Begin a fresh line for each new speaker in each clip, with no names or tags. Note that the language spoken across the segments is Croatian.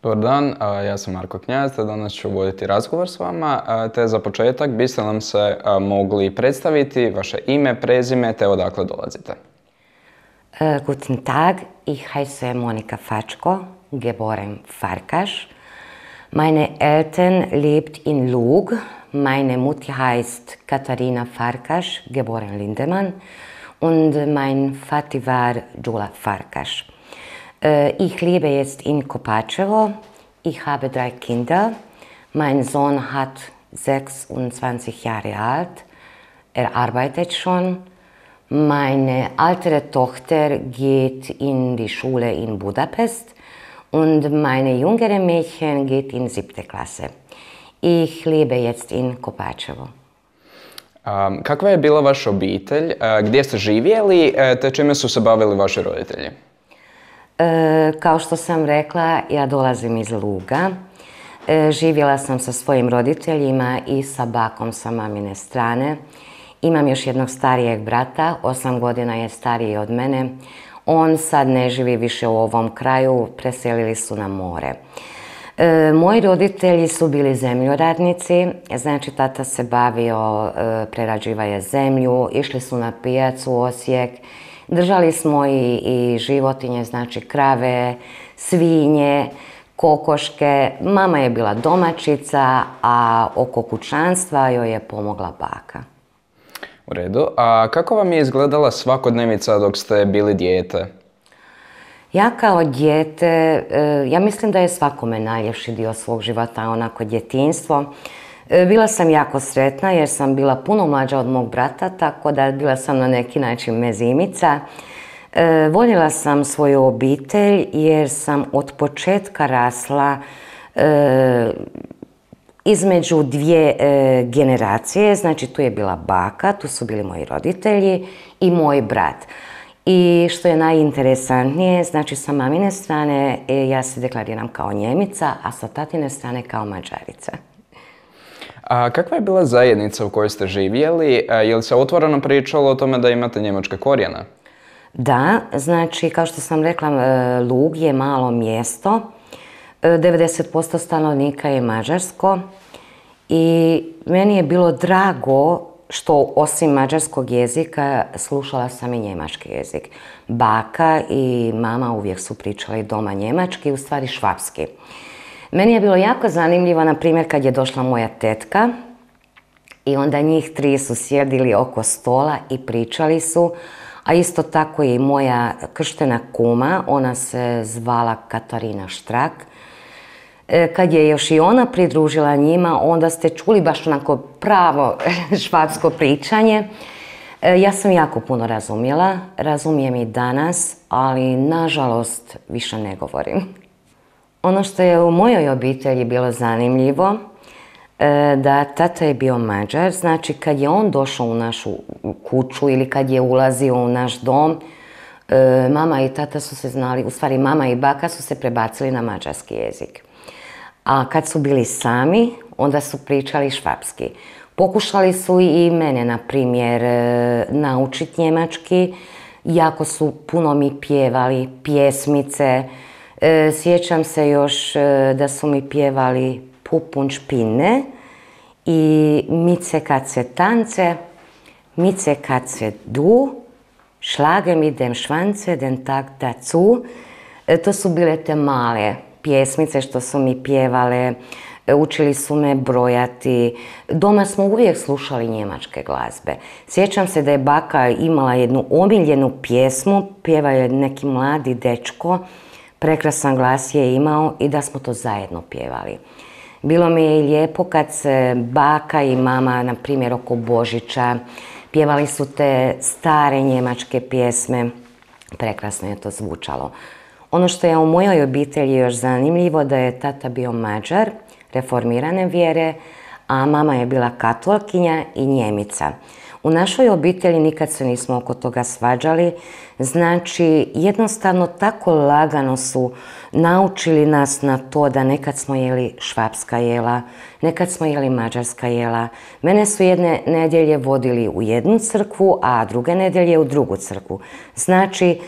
Dobar dan, ja sam Marko Knjaz, te danas ću voditi razgovor s vama, te za početak biste nam se mogli predstaviti vaše ime, prezime te odakle dolazite.
Guten Tag, ich heiße Monika Fatschko, geboren Farkas. Meine Eltern lebt in Lug. Meine Mutter heißt Katharina Farkas, geboren Lindemann. Und mein Vater war Gyula Farkas. Ich lebe jetzt in Kopačevo. Ich habe 3 Kinder. Mein Sohn hat 26 Jahre alt. Er arbeitet schon. Meine ältere Tochter geht in die Schule in Budapest und meine jüngere Mädchen geht in 7. Klasse. Ich lebe jetzt in Kopačevo.
Kakva je bila vaša obitelj, gdje ste živjeli, te čime su se bavili vaši roditelji?
Kao što sam rekla, ja dolazim iz Luga. Živjela sam sa svojim roditeljima i sa bakom sa mamine strane. Imam još jednog starijeg brata, 8 godina je stariji od mene. On sad ne živi više u ovom kraju, preselili su na more. Moji roditelji su bili zemljoradnici, znači tata se bavio prerađivanje zemlju, išli su na pijacu u Osijek, držali smo i životinje, znači krave, svinje, kokoške. Mama je bila domaćica, a oko kućanstva joj je pomogla baka.
U redu. A kako vam je izgledala svakodnevica dok ste bili dijete?
Ja kao dijete, ja mislim da je svakome najljepši dio svog života onako djetinjstvo. Bila sam jako sretna jer sam bila puno mlađa od mog brata, tako da bila sam na neki način mezimica. Voljela sam svoju obitelj jer sam od početka rasla između 2 generacije, znači tu je bila baka, tu su bili moji roditelji i moj brat. I što je najinteresantnije, znači sa mamine strane ja se deklariram kao Njemica, a sa tatine strane kao Mađarica.
A kakva je bila zajednica u kojoj ste živjeli? Je li se otvoreno pričalo o tome da imate njemačke korijene?
Da, znači kao što sam rekla, Lug je malo mjesto. 90% stanovnika je mađarsko i meni je bilo drago što osim mađarskog jezika slušala sam i njemački jezik. Baka i mama uvijek su pričali doma njemački, u stvari švapski. Meni je bilo jako zanimljivo, na primjer, kad je došla moja tetka i onda njih 3 su sjedili oko stola i pričali su, a isto tako i moja krštena kuma, ona se zvala Katarina Štrak. Kad je još i ona pridružila njima, onda ste čuli baš onako pravo švapsko pričanje. Ja sam jako puno razumjela, razumijem i danas, ali nažalost više ne govorim. Ono što je u mojoj obitelji bilo zanimljivo, da tata je bio Mađar, znači kad je on došao u našu kuću ili kad je ulazio u naš dom, mama i tata su se znali, u stvari mama i baka su se prebacili na mađarski jezik. A kad su bili sami, onda su pričali švapski. Pokušali su i mene, na primjer, naučiti njemački. Jako su puno mi pjevali pjesmice. Sjećam se još da su mi pjevali Pup und Spinne i Mice Katze Tance, Mice Katze Du, Schlage mit dem Schwanze den Tag dazu. To su bile te male pjesmice što su mi pjevale, učili su me brojati. Doma smo uvijek slušali njemačke glazbe. Sjećam se da je baka imala jednu omiljenu pjesmu, pjevao je neki mladi dečko, prekrasan glas je imao i da smo to zajedno pjevali. Bilo mi je i lijepo kad se baka i mama, na primjer oko Božića, pjevali su te stare njemačke pjesme. Prekrasno je to zvučalo. Ono što je u mojoj obitelji još zanimljivo da je tata bio Mađar, reformirane vjere, a mama je bila katolkinja i Njemica. U našoj obitelji nikad se nismo oko toga svađali, znači jednostavno tako lagano su naučili nas na to da nekad smo jeli švapska jela, nekad smo jeli mađarska jela. Mene su jedne nedjelje vodili u jednu crkvu, a druge nedjelje u drugu crkvu. Znači,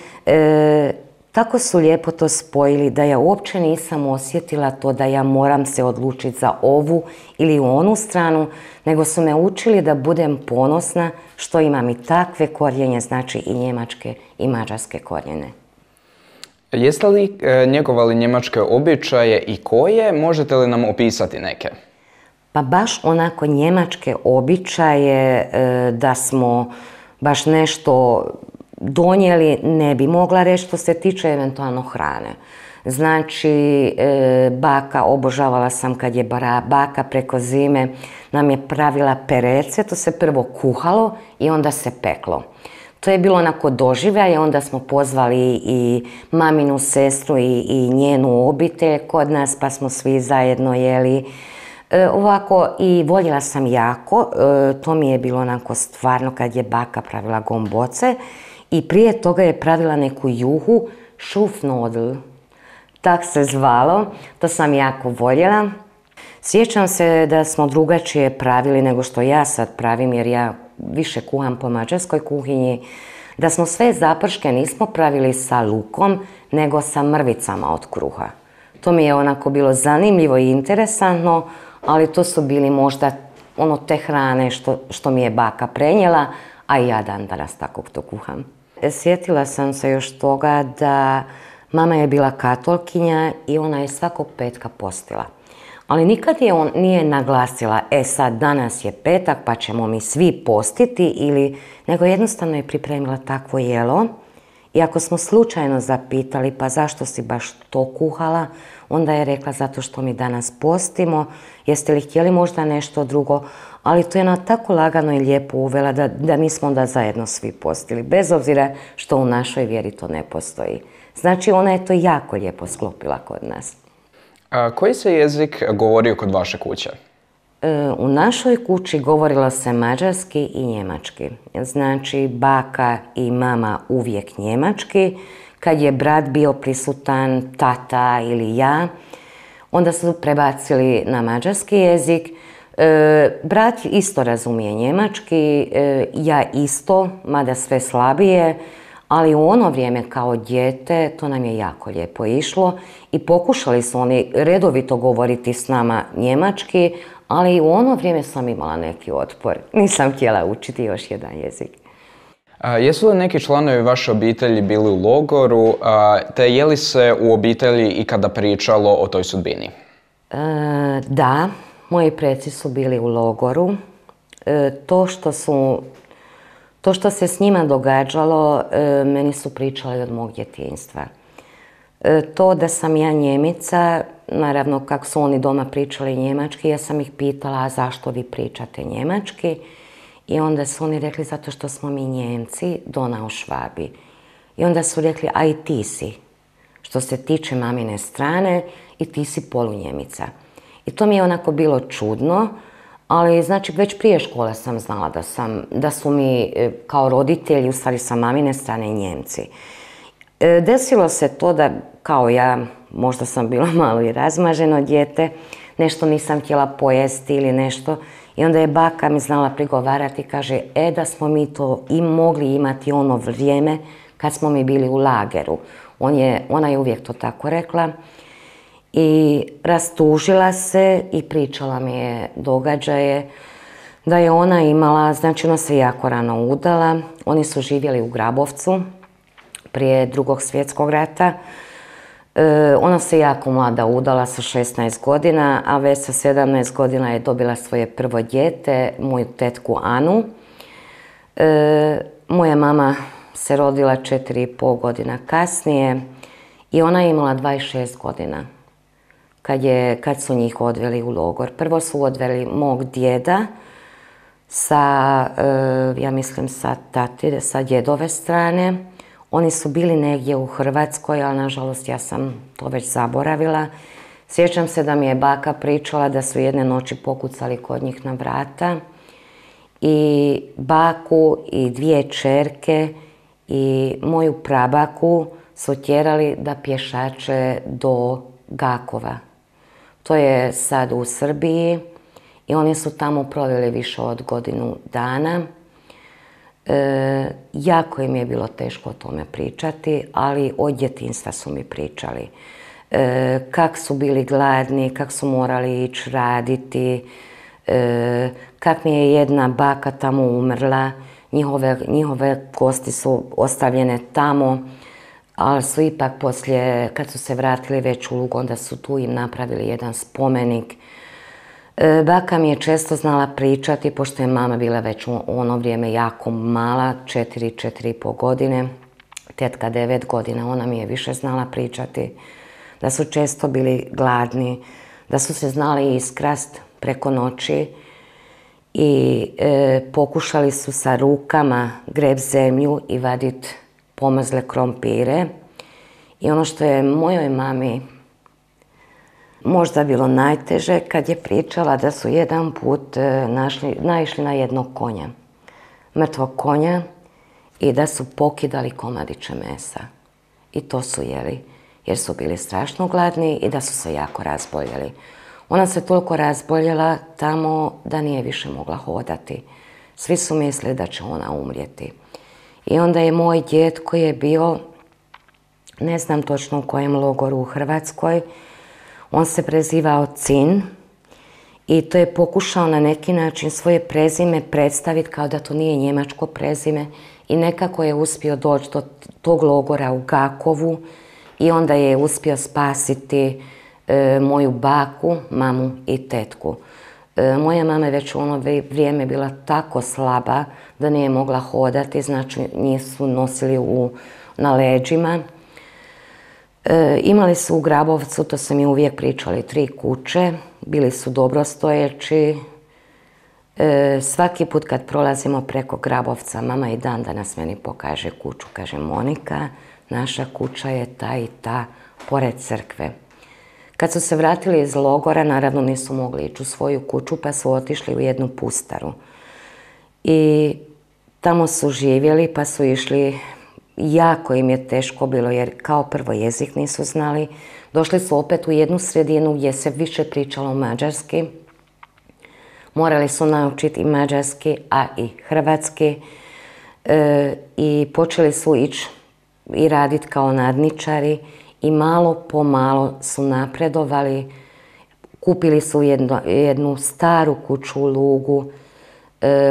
tako su lijepo to spojili da ja uopće nisam osjetila to da ja moram se odlučiti za ovu ili onu stranu, nego su me učili da budem ponosna što imam i takve korijenje, znači i njemačke i mađarske korijene.
Jeste li njegovali njemačke običaje i koje? Možete li nam opisati neke?
Pa baš onako njemačke običaje da smo baš nešto donijeli, ne bi mogla reći što se tiče eventualno hrane. Znači, baka, obožavala sam kad je baka preko zime nam je pravila perece, to se prvo kuhalo i onda se peklo. To je bilo onako doživljaj, onda smo pozvali i maminu sestru i njenu obitelj kod nas, pa smo svi zajedno jeli. Ovako, i voljela sam jako, to mi je bilo onako stvarno kad je baka pravila gomboce i prije toga je pravila neku juhu, šufnodl, tak se zvalo, to sam jako voljela. Sjećam se da smo drugačije pravili nego što ja sad pravim, jer ja više kuham po mađarskoj kuhinji, da smo sve zaprške nismo pravili sa lukom, nego sa mrvicama od kruha. To mi je onako bilo zanimljivo i interesantno, ali to su bili možda te hrane što mi je baka prenijela, a i ja dan danas tako to kuham. Sjetila sam se još toga da mama je bila katolkinja i ona je svakog petka postila. Ali nikad nije naglasila, sad danas je petak pa ćemo mi svi postiti, nego jednostavno je pripremila takvo jelo. I ako smo slučajno zapitali pa zašto si baš to kuhala, onda je rekla zato što mi danas postimo, jeste li htjeli možda nešto drugo, ali to je ona tako lagano i lijepo uvela da mi smo onda zajedno svi postili, bez obzira što u našoj vjeri to ne postoji. Znači ona je to jako lijepo sklopila kod nas.
Koji se jezik govorio kod vaše kuće?
U našoj kući govorilo se mađarski i njemački. Znači, baka i mama uvijek njemački. Kad je brat bio prisutan, tata ili ja, onda su prebacili na mađarski jezik. Brat isto razumije njemački, ja isto, mada sve slabije, ali u ono vrijeme kao dijete to nam je jako lijepo išlo i pokušali su oni redovito govoriti s nama njemački, ali u ono vrijeme sam imala neki otpor. Nisam htjela učiti još jedan jezik.
Jesu li neki članovi vaše obitelji bili u logoru, te je li se u obitelji ikada pričalo o toj sudbini?
Da, moji preci su bili u logoru. To što se s njima događalo, meni su pričali od mog djetinjstva. To da sam ja Njemica, naravno kako su oni doma pričali njemački, ja sam ih pitala a zašto vi pričate njemački i onda su oni rekli zato što smo mi Njemci, dona u Švabi. I onda su rekli a i ti si, što se tiče mamine strane i ti si polunjemica. I to mi je onako bilo čudno, ali znači već prije škole sam znala da su mi kao roditelji, u stvari sa mamine strane Njemci. Desilo se to da kao ja, možda sam bila malo i razmaženo dijete, nešto nisam htjela pojesti ili nešto i onda je baka mi znala prigovarati i kaže da smo mi to i mogli imati ono vrijeme kad smo mi bili u lageru. Ona je uvijek to tako rekla i rastužila se i pričala mi je događaje da je ona imala, znači ona se jako rano udala, oni su živjeli u Grabovcu prije Drugog svjetskog rata. Ona se jako mlada udala sa 16 godina, a već sa 17 godina je dobila svoje prvo dijete, moju tetku Anu. Moja mama se rodila 4,5 godina kasnije i ona je imala 26 godina kad su njih odveli u logor. Prvo su odveli mog djeda ja mislim sa djedove strane. Oni su bili negdje u Hrvatskoj, ali nažalost ja sam to već zaboravila. Sjećam se da mi je baka pričala da su jedne noći pokucali kod njih na vrata i baku i 2 kćerke i moju prabaku su tjerali da pješače do Gakova. To je sad u Srbiji i oni su tamo proveli više od godinu dana. Jako im je bilo teško o tome pričati, ali od djetinjstva su mi pričali. Kak su bili gladni, kak su morali ići raditi, kak mi je jedna baka tamo umrla, njihove kosti su ostavljene tamo, ali su ipak poslije, kad su se vratili već u Lug, onda su tu im napravili jedan spomenik. Baka mi je često znala pričati, pošto je mama bila već u ono vrijeme jako mala, 4,5 godine, tetka 9 godina, ona mi je više znala pričati, da su često bili gladni, da su se znali iskrast preko noći i pokušali su sa rukama greb zemlju i vaditi pomrzle krompire. I ono što je mojoj mami možda bilo najteže, kad je pričala da su jedan put naišli na jednog konja, mrtvog konja, i da su pokidali komadiće mesa. I to su jeli, jer su bili strašno gladni i da su se jako razboljeli. Ona se toliko razboljela tamo da nije više mogla hodati. Svi su mislili da će ona umrijeti. I onda je moj djed, koji je bio, ne znam točno u kojem logoru u Hrvatskoj, on se prezivao Cin i to je pokušao na neki način svoje prezime predstaviti kao da to nije njemačko prezime i nekako je uspio doći do tog logora u Gakovu i onda je uspio spasiti moju baku, mamu i tetku. Moja mama je već u ono vrijeme bila tako slaba da nije mogla hodati, znači njih su nosili na leđima. Imali su u Grabovcu, to su mi uvijek pričali, 3 kuće, bili su dobrostojeći. Svaki put kad prolazimo preko Grabovca, mama i dan danas meni pokaže kuću, kaže Monika, naša kuća je ta i ta, pored crkve. Kad su se vratili iz logora, naravno nisu mogli ići u svoju kuću, pa su otišli u jednu pustaru. I tamo su živjeli, pa su išli, jako im je teško bilo, jer kao prvo jezik nisu znali. Došli su opet u jednu sredinu gdje se više pričalo mađarski. Morali su naučiti i mađarski, a i hrvatski. I počeli su ići i raditi kao nadničari. I malo po malo su napredovali, kupili su jednu staru kuću u Lugu,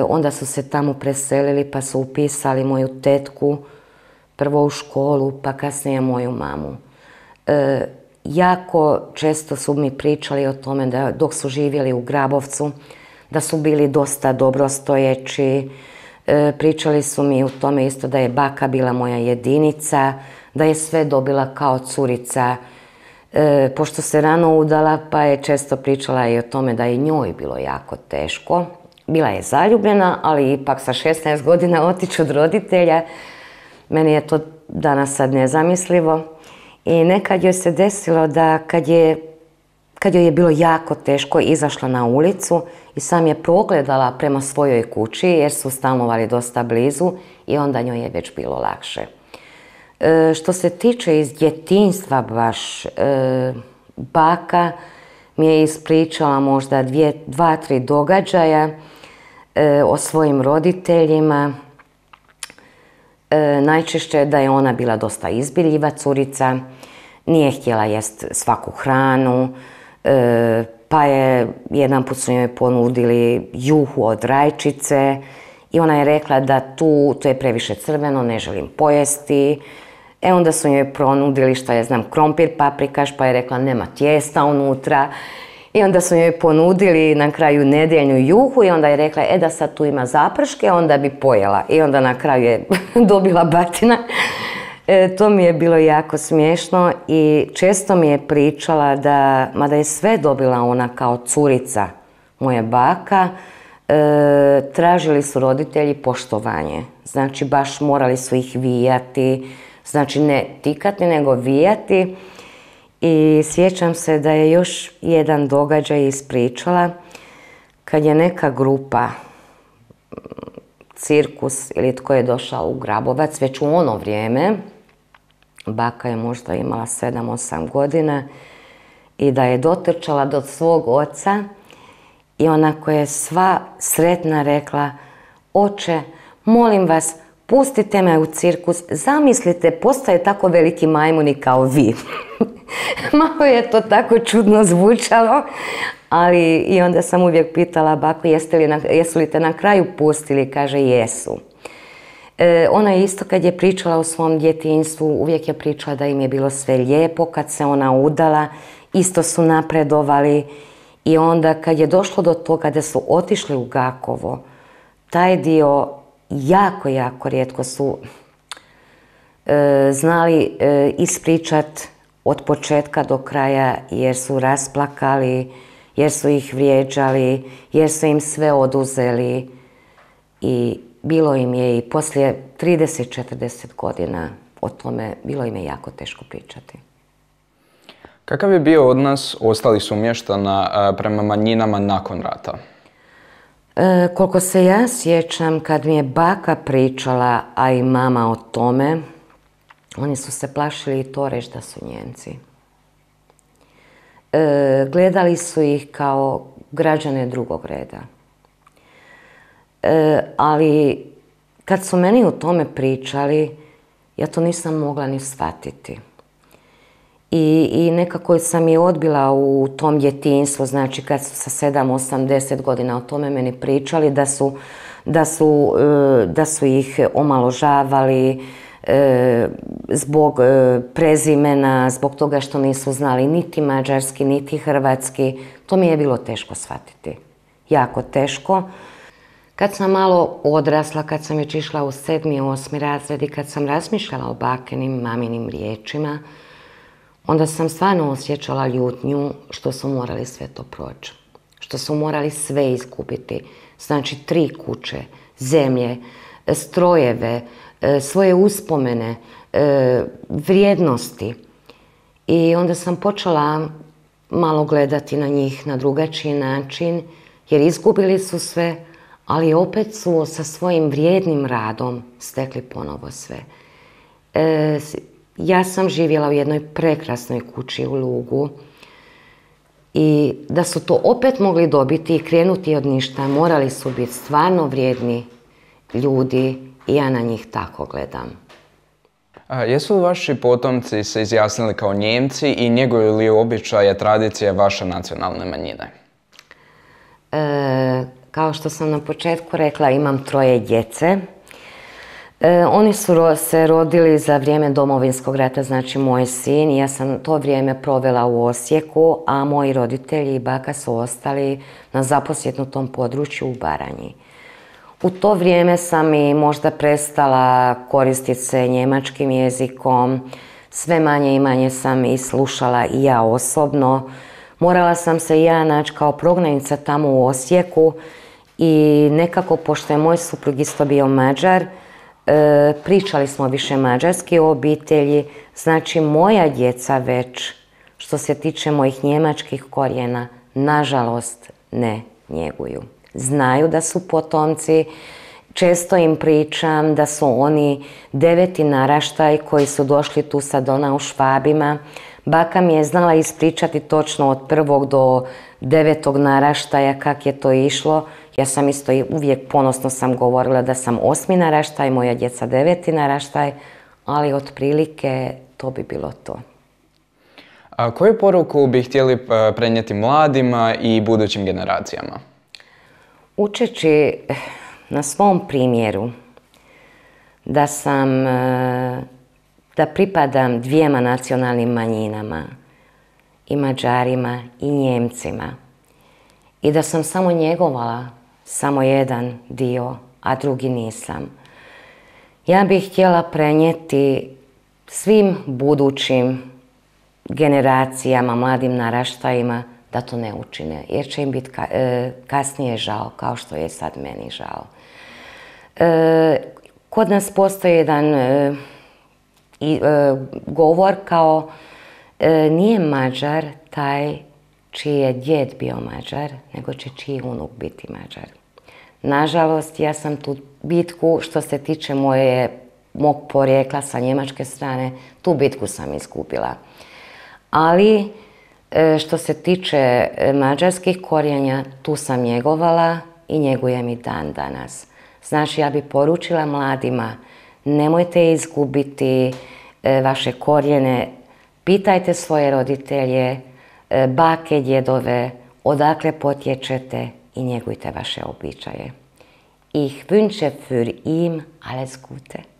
onda su se tamo preselili pa su upisali moju tetku, prvo u školu pa kasnije moju mamu. Jako često su mi pričali o tome da dok su živjeli u Grabovcu, da su bili dosta dobrostojeći, pričali su mi o tome isto da je baka bila moja jedinica, da je sve dobila kao curica. Pošto se rano udala, pa je često pričala i o tome da je njoj bilo jako teško. Bila je zaljubljena, ali ipak sa 16 godina otići od roditelja. Meni je to danas sad nezamislivo. I nekad joj se desilo da kad joj je bilo jako teško, izašla na ulicu i sam je progledala prema svojoj kući, jer su stanovali dosta blizu i onda njoj je već bilo lakše. Što se tiče iz djetinjstva baš, baka mi je ispričala možda 2-3 događaja o svojim roditeljima. Najčešće da je ona bila dosta izbiljiva curica, nije htjela jest svaku hranu, pa je jedan put su njoj ponudili juhu od rajčice i ona je rekla da to je previše crveno, ne želim pojesti. Onda su njoj ponudili, šta ja znam, krompir paprikaš, pa je rekla nema tijesta unutra. I onda su njoj ponudili na kraju nedjeljnu juhu i onda je rekla da sad tu ima zaprške, onda bi pojela. I onda na kraju je dobila batina. To mi je bilo jako smiješno i često mi je pričala da, mada je sve dobila ona kao curica, moja baka, tražili su roditelji poštovanje. Znači baš morali su ih vijati, znači ne tikati nego vijati. I sjećam se da je još jedan događaj ispričala kad je neka grupa, cirkus ili tko je došao u Grabovac, već u ono vrijeme, baka je možda imala 7-8 godina, i da je dotrčala do svog oca i onako je sva sretna rekla: oče, molim vas, pustite me u cirkus, zamislite, postoje tako veliki majmuni kao vi. Malo je to tako čudno zvučalo, ali i onda sam uvijek pitala baku, jesu li te na kraju pustili? Kaže, jesu. Ona je isto kad je pričala o svom djetinjstvu, uvijek je pričala da im je bilo sve lijepo, kad se ona udala, isto su napredovali i onda kad je došlo do toga da su otišli u Gakovo, taj dio jako, jako rijetko su znali ispričat od početka do kraja jer su rasplakali, jer su ih vrijeđali, jer su im sve oduzeli i bilo im je i poslije 30-40 godina o tome, bilo im je jako teško pričati.
Kakav je bio odnos ostalih sumještana prema manjinama nakon rata?
Koliko se ja sjećam, kad mi je baka pričala, a i mama o tome, oni su se plašili i to reći da su Nijemci. Gledali su ih kao građane drugog reda. Ali kad su meni o tome pričali, ja to nisam mogla ni shvatiti. I nekako sam je odbila u tom djetinjstvu, znači kad su sa 7, 8, 10 godina o tome meni pričali, da su ih omaložavali zbog prezimena, zbog toga što nisu znali niti mađarski, niti hrvatski. To mi je bilo teško shvatiti. Jako teško. Kad sam malo odrasla, kad sam već išla u 7. i 8. razred i kad sam razmišljala o bakinim, maminim riječima, onda sam stvarno osjećala ljutnju što su morali sve to proći. Što su morali sve izgubiti. Znači 3 kuće, zemlje, strojeve, svoje uspomene, vrijednosti. I onda sam počela malo gledati na njih na drugačiji način, jer izgubili su sve, ali opet su sa svojim vrijednim radom stekli ponovo sve. Ja sam živjela u jednoj prekrasnoj kući u Lugu i da su to opet mogli dobiti i krenuti od ništa, morali su biti stvarno vrijedni ljudi i ja na njih tako gledam.
Jesu li vaši potomci se izjasnili kao Nijemci i njeguju li običaje, tradicije vaše nacionalne manjine?
Kao što sam na početku rekla, imam 3 djece. Oni su se rodili za vrijeme Domovinskog rata, znači moj sin. Ja sam to vrijeme provela u Osijeku, a moji roditelji i baka su ostali na zaposjednutom području u Baranji. U to vrijeme sam i možda prestala koristiti se njemačkim jezikom. Sve manje i manje sam i slušala i ja osobno. Morala sam se i ja naći kao prognanica tamo u Osijeku i nekako, pošto je moj suprug isto bio Mađar, pričali smo više mađarski o obitelji. Znači, moja djeca već, što se tiče mojih njemačkih korijena, nažalost ne njeguju. Znaju da su potomci, često im pričam da su oni 9. naraštaj koji su došli tu sa Donau Švabima. Baka mi je znala ispričati točno od 1. do 9. naraštaja kak je to išlo. Ja sam isto uvijek ponosno sam govorila da sam 8. naraštaj, moja djeca 9. naraštaj, ali otprilike to bi bilo to.
A koju poruku bi htjeli prenijeti mladima i budućim generacijama?
Učeći na svom primjeru da pripadam 2 nacionalnim manjinama, i Mađarima i Njemcima, i da sam samo njegovala samo jedan dio, a drugi nisam. Ja bih htjela prenijeti svim budućim generacijama, mladim naraštajima, da to ne učine, jer će im biti kasnije žao, kao što je sad meni žao. Kod nas postoji jedan govor kao nije Mađar taj čiji je djed bio Mađar, nego će čiji unuk biti Mađar. Nažalost, ja sam tu bitku, što se tiče mog porijekla sa njemačke strane, tu bitku sam izgubila. Ali, što se tiče mađarskih korijenja, tu sam njegovala i njegujem i dan danas. Znači, ja bi poručila mladima, nemojte izgubiti vaše korijene, pitajte svoje roditelje, bake, djedove, odakle potječete i njegujte vaše običaje. Ich wünsche für ihn alles Gute.